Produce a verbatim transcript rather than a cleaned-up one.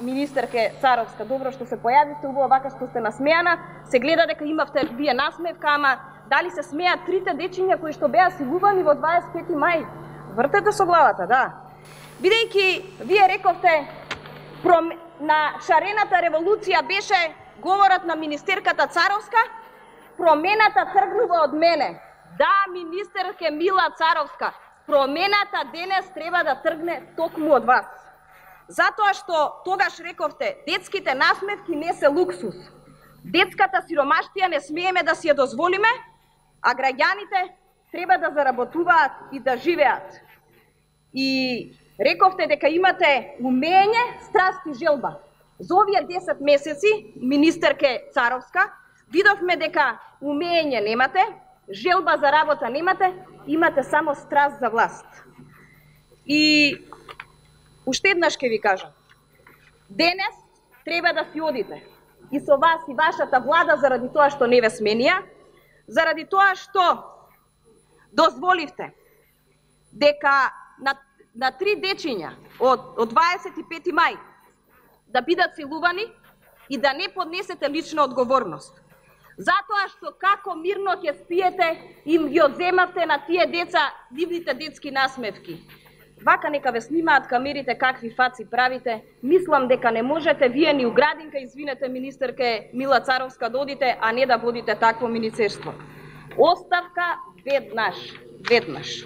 Министерке Царовска, добро што се појавивте, убаво вака што сте насмеана. Се гледа дека имавте вие насмевка, ама дали се смеат трите дечиња кои што беа силувани во дваесет и пети мај? Вртете со главата, да. Бидејќи вие рековте пром... на шарената револуција беше говорот на министерката Царовска, промената тргнува од мене. Да, министерке Мила Царовска, промената денес треба да тргне токму од вас. Затоа што тогаш рековте, детските насмевки не се луксус. Детската сиромаштија не смееме да си ја дозволиме, а граѓаните треба да заработуваат и да живеат. И рековте дека имате умење, страст и желба. За овие десет месеци, министерке Царовска, видовме дека умење немате, желба за работа немате, имате само страст за власт. И уште еднаш ќе ви кажам, денес треба да си одите. И со вас и вашата влада заради тоа што не ве сменија, заради тоа што дозволивте дека на, на три дечиња од, од дваесет и пети мај да бидат силувани и да не поднесете лична одговорност. Затоа што како мирно ќе спиете им ги одземавте на тие деца нивните детски насмевки. Вака нека ве снимаат камерите какви фаци правите. Мислам дека не можете вие ни уградинка, извинете министерке Мила Царовска, да одите, а не да водите такво министерство. Оставка веднаш, веднаш.